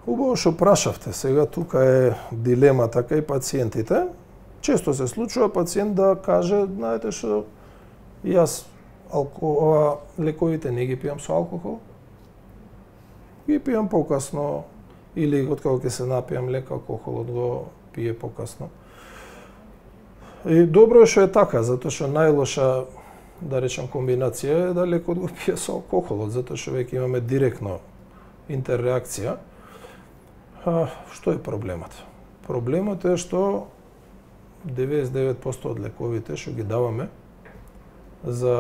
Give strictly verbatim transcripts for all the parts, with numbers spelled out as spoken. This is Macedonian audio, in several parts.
Убаво што прашавте. Сега тука е дилемата кај пациентите. Често се случува пациент да каже, знаете што, јас алко... лековите не ги пијам со алкохол, ги пијам покасно, или откако ќе се напијам лек, алкохолот го пие покасно. И добро е што е така, затоа што најлоша, да речем, комбинација е да лекот го пие со алкохолот, затоа што веќе имаме директно интерреакција. А, што е проблемот? Проблемот е што деветдесет и девет проценти од лековите што ги даваме за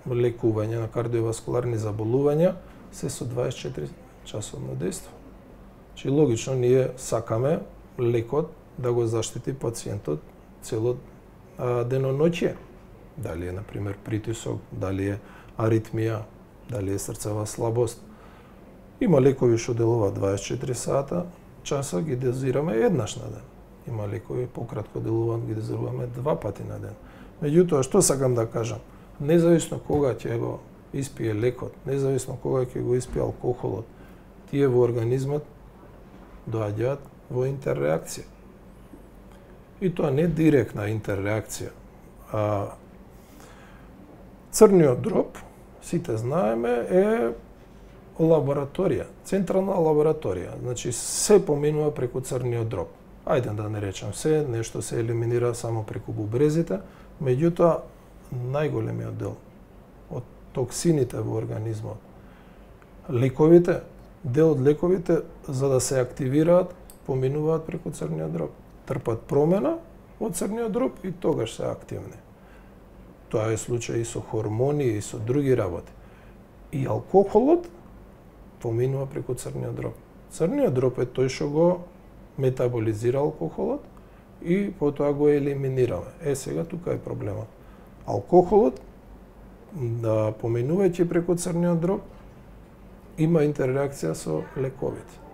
лекување на кардиоваскуларни заболувања се со дваесет и четири часовно дејство. Чи логично ние сакаме лекот да го заштити пациентот цело деноноќе. Дали е, например, притисок, дали е аритмија, дали е срцева слабост. Има лекови што делуваат дваесет и четири сата, часа ги дозираме еднаш на ден. Има лекови пократко делуваат, ги дозируваме два пати на ден. Меѓутоа, што сакам да кажам? Независно кога ќе го испие лекот, независно кога ќе го испие алкохолот, тие во организмот доаѓаат во интерреакција. И тоа не директна интерреакција. А, црниот дроб, сите знаеме, е лабораторија, централна лабораторија. Значи, се поминува преку црниот дроб. Ајде да не речем се, нешто се елиминира само преку бубрезите, меѓутоа, најголемиот дел од токсините во организмот, лековите, дел од лековите, за да се активираат, поминуваат преку црниот дроб. Трпат промена од црниот дроб и тогаш се активни. Тоа е случај и со хормони и со други работи. И алкохолот поминува преку црниот дроб. Црниот дроб е тој што го метаболизира алкохолот и потоа го елиминираме. Е, сега тука е проблемот. Алкохолот, да поминувајќи преку црниот дроб, има интерреакција со лековите.